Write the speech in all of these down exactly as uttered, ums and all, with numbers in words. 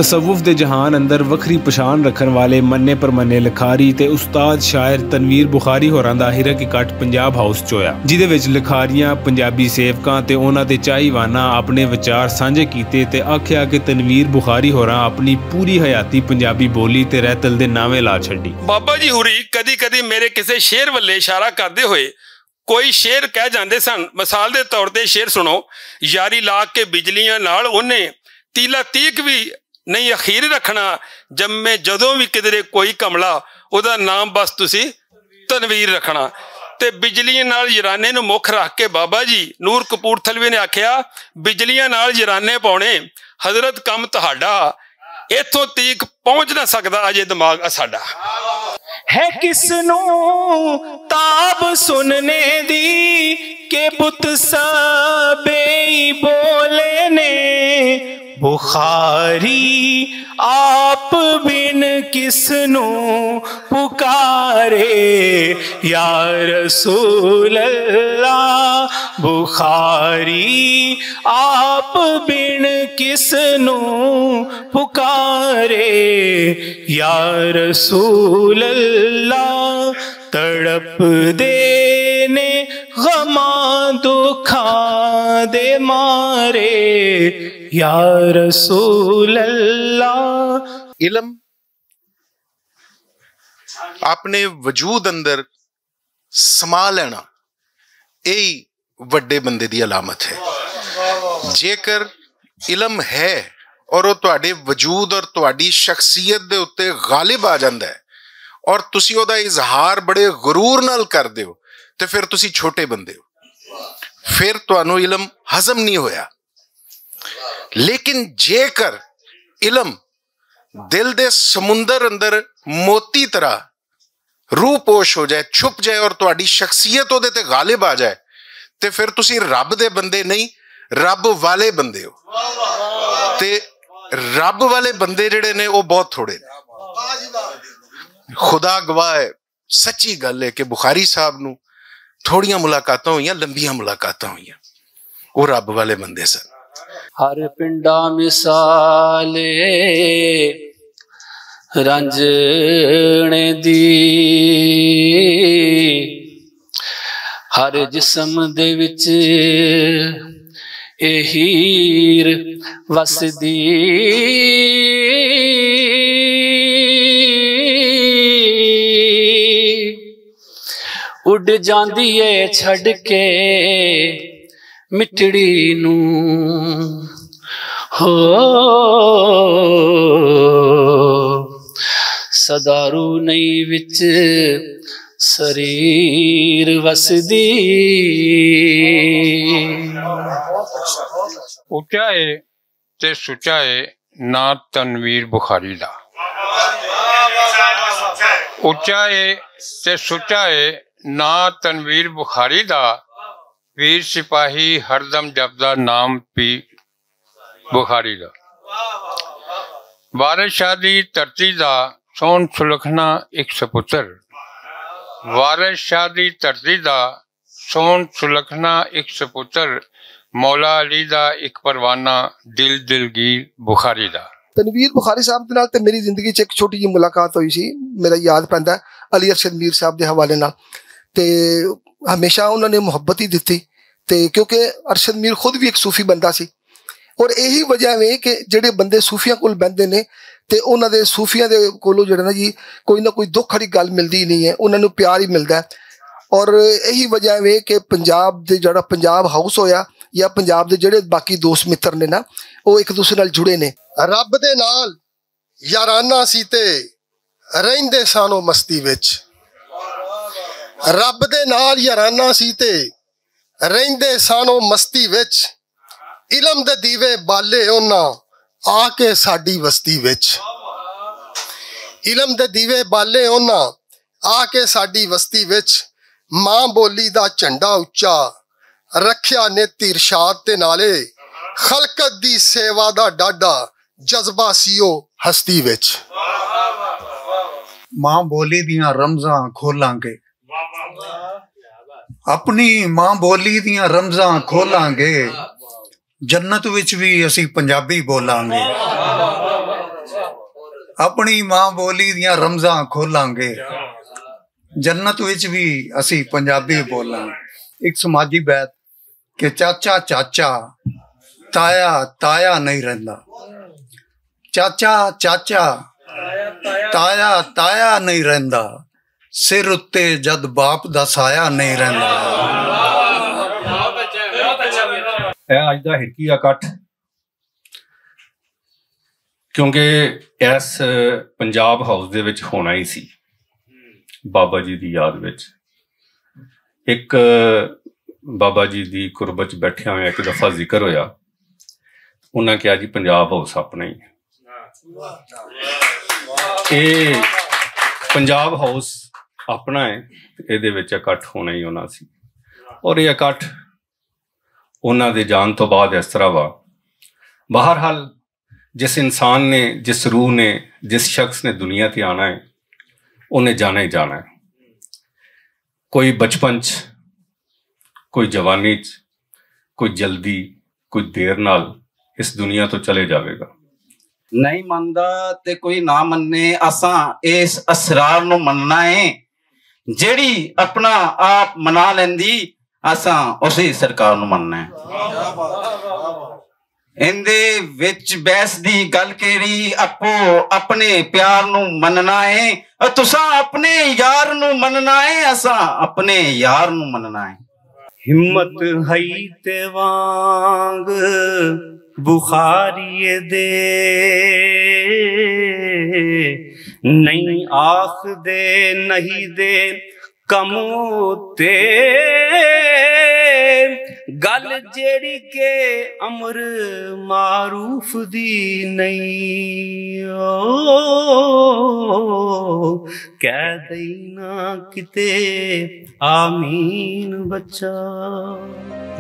تصوف دے جہان اندر وکھری پچھان رکھن والے منے پرمنے لکھاری تے استاد شاعر تنویر بخاری ہوراں دا ہرک اکٹھ پنجاب ہاؤس چ ہویا، جدے وچ لکھاریاں، پنجابی سیوکاں تے انہاں دے چاہیواناں اپنے وچار سانجھے کیتے تے آکھیا کہ تنویر بخاری ہوراں اپنی پوری حیاتی پنجابی بولی تے رہتل دے ناویں لا چھڈی۔ بابا جی ہوری کدی کدی میرے کسے شعر ولے اشارہ کردے ہوئے کوئی شعر کہہ جاندے سن۔ مثال دے طور تے شعر سنو، یاری لا کے بجلیاں نال اونے تیلا تیک وی نہیں اخیر رکھنا، جمے جدوں وی کدرے کوئی کملا، اودا نام بس تسی تنویر رکھنا۔ تے بجلیاں نال یرانے نوں مکھ رکھ کے بابا جی نور کپورتھلوی نے آکھیا، بجلیاں نال یرانے پاؤنے، حضرت کم تہاڈا، ایتھوں تیک پہنچ نہ سکدا اجے دماغ اساڈا۔ ہے کس نوں تاب سننے دی کہ بت سبے ہی بولے نے، بخاری آپ بن کس نوں پکارے، یا رسول اللہ۔ بخاری آپ بن کس نوں پکارے، یا رسول اللہ۔ تڑپ دے نے غماں دکھاں دے مارے، یا رسول اللہ۔ علم اپنے وجود اندر سما لینا، یہی وڈے بندے دی علامت ہے۔ جیکر علم ہے اور وہ تہاڈے وجود اور تہاڈی شخصیت دے اُتے غالب آ جاندا ہے اور تسی او دا اظہار بڑے غرور نال کر دیو، تے پھر تسی چھوٹے بندے ہو، پھر تانوں علم ہضم نہیں ہویا۔ لیکن جیکر علم دل دے سمندر اندر موتی طرح روح پوش ہو جائے، چھپ جائے اور تہاڈی شخصیت اودے تے غالب آ جائے، تے پھر تسی رب دے بندے نہیں، رب والے بندے ہو۔ تے رب والے بندے جڑے نے، او بہت تھوڑے نے۔ خدا گواہ ہے، سچی گل ہے کہ بخاری صاحب نوں تھوڑیاں ملاقاتاں ہوئیاں، لمبیاں ملاقاتاں ہوئیاں۔ او رب والے بندے سن۔ ہر پنڈا مثال رنجنے دی، ہر جسم دے وچ اے ہیر وسدی۔ اڈ جاندی اے چھڈ کے مٹڑی نوں، ہو سدارو نہیں وچ سریر وسدی۔ اچا ہے تے سچا ہے نا تنویر بخاری دا۔ اچا ہے تے سچا ہے نا تنویر بخاری دا۔ ویر سپاہی ہر دم جپدا نام پی بخاری دا۔ وارث شاہ دی دھرتی دا سون سلکھنا اک سپتر۔ وارث شاہ دی دھرتی دا سون سلکھنا اک سپتر، مولا علی دا اک پروانہ، دل دلگیر بخاری دا۔ تنویر بخاری صاحب دے نال تے میری زندگی چ ایک چھوٹی جی ملاقات ہوئی سی۔ میرا یاد پیندا ہے علی ارشد میر صاحب دے حوالے نال، تے ہمیشہ انہاں نے محبت ہی دتی۔ تے کیونکہ ارشد میر خود بھی ایک صوفی بندہ سی، اور یہی وجہ ہے کہ جڑے بندے صوفیاں کول بہندے نے تے انہاں دے، صوفیاں دے کولوں جڑا نا جی، کوئی نہ کوئی دکھ والی گل ملدی ہی نہیں ہے، انہاں نوں پیار ہی ملدا ہے۔ اور یہی وجہ ہے کہ پنجاب دے، جڑا پنجاب ہاؤس ہویا یا پنجاب دے جڑے باقی دوست متر نے نا، وہ ایک دوسرے نال جڑے نے۔ رب دے نال یارانہ سی تے رہندے سانو مستی وچ۔ رب دے نال یارانہ سی تے رہندے سانو مستی وچ۔ علم دے دیوے بالے انہاں آ کے ساڈی وستی وچ۔ علم دے دیوے بالے انہاں آ کے ساڈی وستی وچ۔ ماں بولی دا جھنڈا اچا رکھیا نے تے ارشاد تے نالے خلقت دی سیوا دا ڈاڈا جذبہ سی او ہستی وچ۔ ماں بولی دیاں رمزاں کھولاں گے، اپنی ماں بولی دیاں رمزاں کھولاں گے، جنت وچ وی اسی پنجابی بولاں گے۔ اپنی ماں بولی دیاں رمزاں کھولاں گے۔ جنت وچ بھی اسی پنجابی بولاں۔ ایک سماجی بیت کہ چاچا چاچا، تایا تایا نہیں رہندا۔ چاچا چاچا، تایا تایا نہیں رہندا۔ سر اتے جد باپ دا سایہ نہیں رہندا۔ اے اج دا ہکی اکٹھ، کیونکہ ایس پنجاب ہاؤس دے وچ ہونا ہی سی، بابا جی دی یاد وچ۔ ایک بابا جی دی قربت چ بیٹھیا ہویا ایک دفعہ ذکر ہویا، انہاں کہا جی پنجاب ہاؤس اپنا ہی ہے۔ اے پنجاب ہاؤس اپنا ہے، اے دے وچ اکٹھ ہونا ہی ہونا سی۔ اور یہ اکٹھ انہاں دے جان تو بعد اس طرح وا۔ بہرحال، جس انسان نے، جس روح نے، جس شخص نے دنیا تے آنا ہے، انہیں جانا ہی جانا ہے۔ کوئی بچپن چ، کوئی جوانی چ، کوئی جلدی، کوئی دیر نال اس دنیا تو چلے جاوے گا۔ نہیں مندا تے کوئی نہ مننے، اساں اس اسرار نو مننا ہے۔ جیڑی اپنا آپ منا لیندی، اساں اسی سرکار نو مننا ہے۔ ایندے وچ بحث دی گل کیڑی؟ اپو اپنے پیار نو مننا ہے، او تساں اپنے یار نو مننا ہے، اساں اپنے یار نو مننا ہے۔ ہمت ہئی تے وانگ بخاری دے، نہیں آخ دے، نہیں دے کم اتے۔ گل جیڑی کہ امر معروف دی نہیں، او کہہ دئی نہ کتے آمین بچہ۔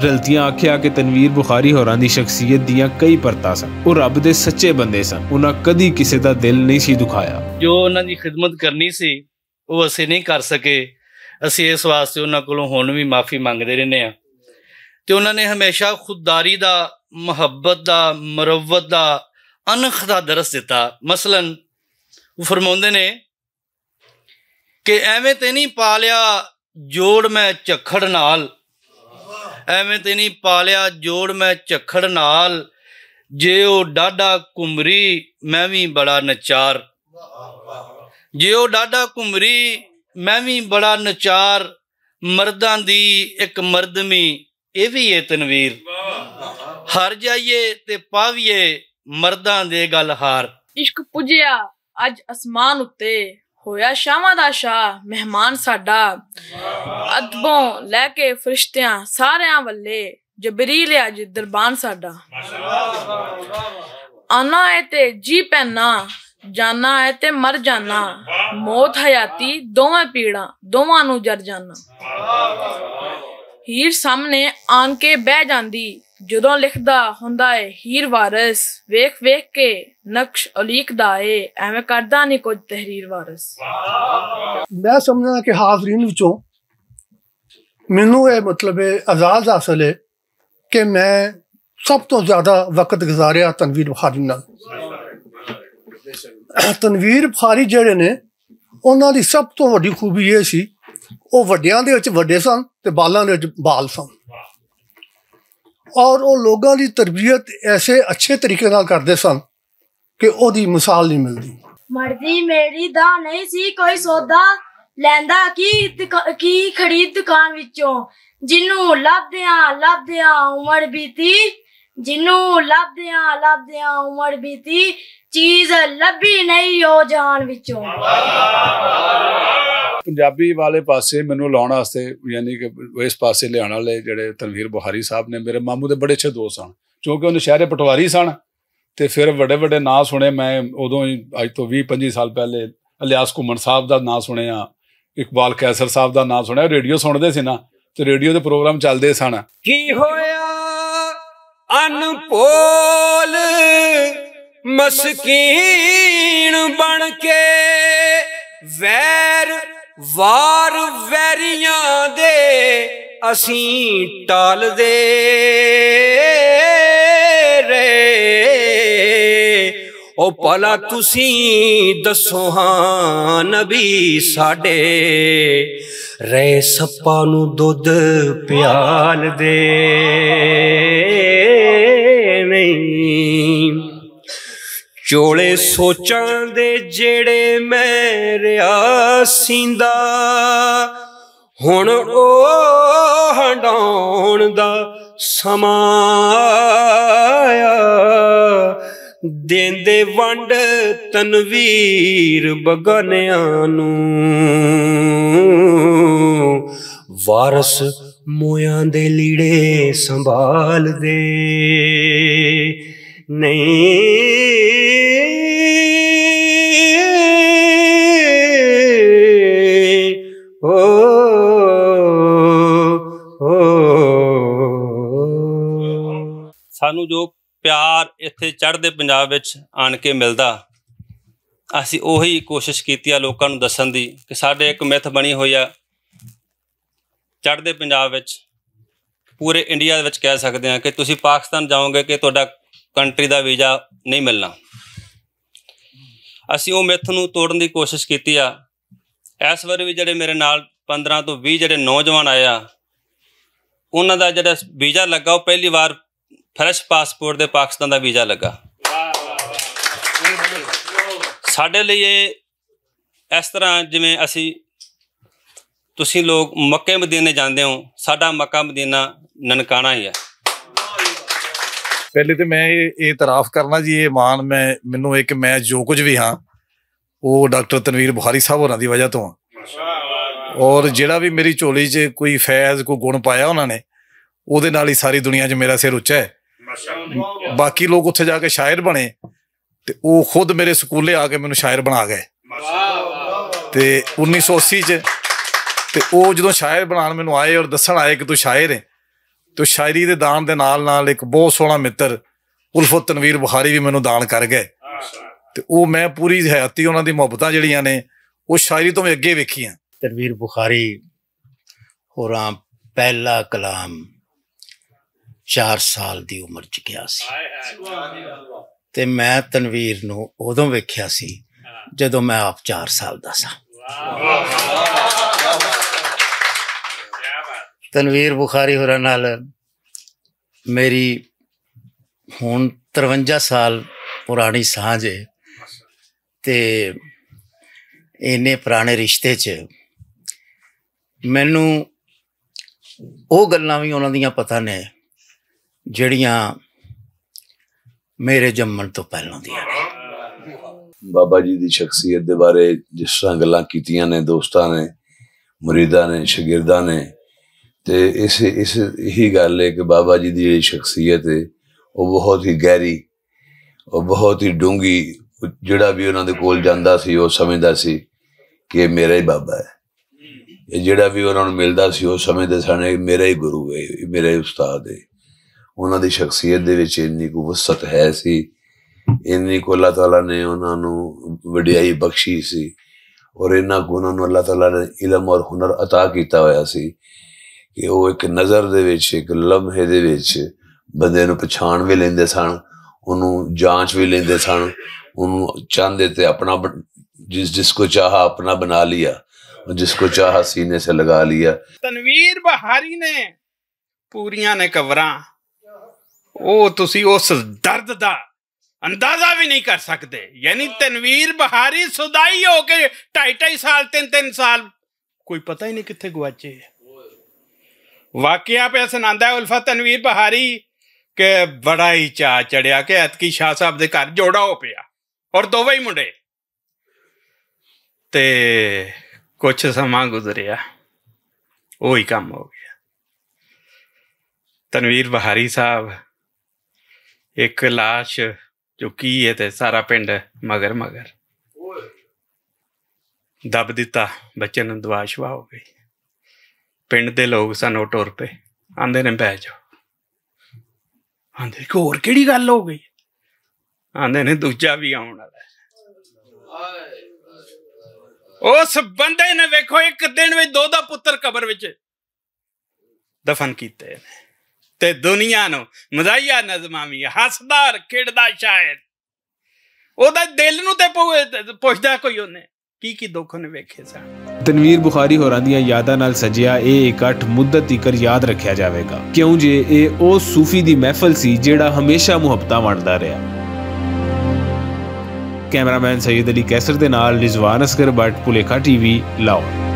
رلتیاں آکھیا کہ تنویر بخاری ہوراں دی شخصیت دیاں کئی پرتاں سن۔ او رب دے سچے بندے سن، انہاں کدی کسے دا دل نہیں سی دکھایا۔ جو انہاں دی خدمت کرنی سی، وہ اسی نہیں کر سکے۔ اسی اس واسطے انہاں کولوں ہن وی معافی منگدے رہنے ہاں۔ تے انہاں نے ہمیشہ خودداری دا، محبت دا، مروت دا، انخ دا درس دتا۔ مثلاً، وہ فرماوندے نے کہ ایویں تے نہیں پالیا جوڑ میں جھکھڑ نال، ایویں تے نہیں پالیا جوڑ میں جھکھڑ نال، جے او ڈاڈا کمری میں وی بڑا نچار، جے او ڈاڈا کمری میں وی بڑا نچار، مرداں دی اک مردمی اے وی اے تنویر، ہر جائیے تے پاویے مرداں دے گل ہار۔ عشق پجیا اج اسمان اتے، ہویا شاواں دا شاہ مہمان ساڈا۔ ادبوں لے کے فرشتیاں ساریاں ولے، جبریل اج دربان ساڈا۔ آنا اے تے جی پینا، جانا اے تے مر جانا۔ موت حیاتی دوویں پیڑاں، دوواں نوں جر جانا۔ ہیر سامنے آن کے بہ جاندی، جدوں لکھدا ہوندا اے ہیر وارث، ویکھ ویکھ کے نقش الیکدا اے، ایویں کردا نہیں کچھ تحریر وارث۔ میں سمجھنا کہ حاضرین وچوں مینوں اے مطلب اے اعزاز حاصل اے کہ میں سب تو زیادہ وقت گزاریا تنویر بخاری نال۔ تنویر بخاری جڑے نے، انہاں دی سب تو وڈی خوبی اے سی، او وڈیاں دے وچ وڈے سن تے بالاں دے وچ بال سن، اور او لوگاں دی تربیت ایسے اچھے طریقے نال کردے سن کہ او دی مثال نہیں ملدی۔ مرضی میری دا نہیں سی کوئی سودا، لیندا کی دکا-، کی خرید دکان وچوں، جنوں لبدیاں لبدیاں عمر بیتی، جنوں لبدیاں لبدیاں عمر بیتی، چیز لبھی نہیں او جہان وچوں۔ پنجابی والے پاسے مینوں لاؤن واسطے، یعنی کہ اس پاسے لیاون والے جڑے تنویر بخاری صاحب نے، میرے ماموں دے بڑے اچھے دوست سن، کیونکہ انہوں شہر پٹواری سن۔ تے فیر وڈے وڈے ناں سنے میں، ادوں ہی اج توں ویہہ پنجی سال پہلے الیاس گھمن صاحب دا ناں سنیا، اقبال قیصر صاحب دا ناں سنیا۔ ریڈیو سنتے سی نا، تے ریڈیو دے پروگرام چلدے سن۔ کی ہویا ان پول مسکین بن کے، ویر وار ویریاں دے اسیں ٹال دے رہے۔ او پلا تسی دسو ہاں نبی ساڈے، رے سپا نو دودھ پیال دے نہیں؟ چوڑے سوچاں دے جیڑے میں ریا سیندا، ہن او ہنڈاون دا سمایا، دیندے ونڈ تنویر بگانیاں نوں، وارث مویاں دے لیڑے سنبھال دے نہیں۔ او، او۔ سانوں جو پیار اتھے چڑھدے پنجاب وچ آن کے ملدا، اسی اوہی کوشش کیتی آ لوکاں نوں دسن دی کہ ساڈے ایک متھ بنی ہوئی آ چڑھدے پنجاب وچ، پورے انڈیا وچ کہہ سکدے ہاں کہ تسی پاکستان جاؤ گے کہ تہاڈا کنٹری دا ویزا نہیں ملنا۔ اسی او متھ نوں توڑن دی کوشش کیتی آ۔ اس واری وی جڑے میرے نال پندرہ تو ویہہ جڑے نوجوان آئے آ، انہاں دا جڑا ویزا لگا، او پہلی وار فریش پاسپورٹ دے پاکستان دا ویزا لگا۔ ساڈے لئی اے اس طرح جویں اسی، تسی لوگ مکے مدینے جاندے ہو، ساڈا مکہ مدینہ ننکانہ ہی ہے۔ پہلے تے میں اے اعتراف کرنا جی، اے مان میں، مینوں اے کہ میں جو کچھ وی ہاں، او ڈاکٹر تنویر بخاری صاحب ہوراں دی وجہ تو ہاں۔ اور جیڑا وی میری جھولی چ کوئی فیض، کوئی گن پایا انہاں نے، او دے نال ہی ساری دنیا چ میرا سر اچا ہے۔ باقی لوگ اتھے جا کے شاعر بنے، تے او خود میرے سکولے آ کے مینوں شاعر بنا گئے۔ تے انیس سو اسی چ، تے او جدوں شاعر بنان مینوں آئے اور دسن آئے کہ تو شاعر ہے، تو شاعری دے دان دے نال نال ایک بہت سوہنا متر الفت تنویر بخاری بھی مینوں دان کر گئے۔ تے او میں پوری حیاتی انہاں دی محبتاں جڑیاں نے، او شاعری تو میں اگے ویکھیاں۔ تنویر بخاری ہوراں پہلا کلام چار سال دی عمر چ کیا سی، تے میں تنویر نوں اودوں ویکھیا سی جدوں میں آپ چار سال دا سا۔ تنویر بخاری ہوراں نال میری ہن ترونجا سال پرانی سانجھ ہے، تے اینے پرانے رشتے چ مینوں او گلاں وی انہاں دیاں پتہ نے جڑیاں میرے جمن تو پہلوں دیاں نے۔ بابا جی دی شخصیت دے بارے جس طرح گلاں کیتیاں نے دوستاں نے، مریداں نے، شاگرداں نے، تے اس، اس یہی گل ہے کہ بابا جی دی جڑی شخصیت ہے، وہ بہت ہی گہری، وہ بہت ہی ڈونگی۔ جڑا بھی انہاں دے کول جاندا سی، وہ سمجھدا سی کہ یہ میرا ہی بابا ہے۔ یہ جڑا بھی انہاں نوں ملدا سی، وہ سمجھدے سن، یہ میرا ہی گرو ہے، یہ میرا ہی استاد ہے۔ انہاں دی شخصیت دے وچ اتنی کو وسعت ہے سی، اتنی کو اللہ تعالیٰ نے انہاں نوں وڈیائی بخشی سی، اور اتنا کو انہاں نوں اللہ تعالیٰ نے علم اور ہنر عطا کیتا ہویا سی کہ وہ ایک نظر دے وچ، ایک لمحے دے وچ بندے نوں پچھان وی لیندے سن، انہوں جانچ وی لیندے سن، انہوں چاہندے تے اپنا بن-، جس، جس کو چاہا اپنا بنا لیا، جس کو چاہا سینے سے لگا لیا۔ تنویر بہاری نے پوریاں نے قبراں، او تسی اس درد دا اندازہ بھی نہیں کر سکتے۔ یعنی تنویر بہاری سدائی ہو کے ڈھائی ڈھائی سال، تین تین سال، کوئی پتہ ہی نہیں کتھے گواچے۔ واقعہ پہ سناندا ہے الفت تنویر بہاری کہ بڑا ہی چا چڑھیا کہ اتکی شاہ صاحب دے گھر جوڑا ہو پیا اور دووے ہی منڈے۔ تے کچھ سماں گزریا، وہی کم ہو گیا۔ تنویر بہاری صاحب ایک لاش چکی ہے تے سارا پنڈ مگر مگر دب دتا۔ بچے نوں دعا شوا ہو گئی۔ پنڈ دے لوگ سن، او ٹر پے، آندے نے، "بہ جاؤ۔" آندے کہ، "ہور کیڑی گل ہو گئی؟" آندے نے، "دوجا بھی آون والا ہے۔" اس بندے نے، ویکھو، ایک دن وچ دو دا پتر قبر وچ دفن کیتے نے۔ تے دنیا نو مزاحیہ نظماں وی، ہسدا کھیڈدا شاعر۔ او دا دل نوں تے پو- پوچھدا کوئی اونے، کی کی دکھ اونے ویکھے سن۔ تنویر بخاری ہوراں دیاں یاداں نال سجیا اے اکٹھ مدت تیکر یاد رکھیا جاوے گا، کیوں جے اے او صوفی دی محفل سی جیہڑا ہمیشہ محبتاں ونڈدا رہیا۔ کیمرہ مین سید علی کیسر دے نال رضوان اصغر بٹ، پلیکھا ٹی وی، لاہور۔